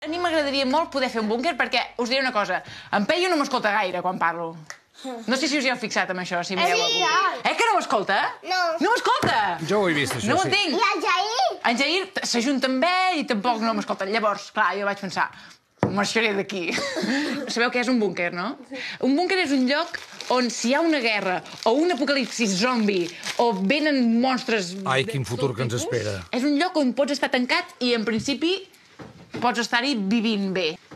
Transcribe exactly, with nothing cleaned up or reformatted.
A mi m'agradaria molt poder fer un búnquer perquè, us diré una cosa, en Peyu no m'escolta gaire quan parlo. No sé si us hi heu fixat amb això, si mireu algú. Eh, que no ho escolta? No. No ho escolta? Jo ho he vist, això, no ho sí. entenc. I el Jair? En Jair s'ajunta amb ell i tampoc no m'escolta. Llavors, clar, jo vaig pensar, marxaré d'aquí. Sabeu què és un búnquer, no? Un búnquer és un lloc on si hi ha una guerra o un apocalipsis zombi o venen monstres... Ai, quin futur que ens espera. És un lloc on pots estar tancat i, en principi, pots estar-hi vivint bé.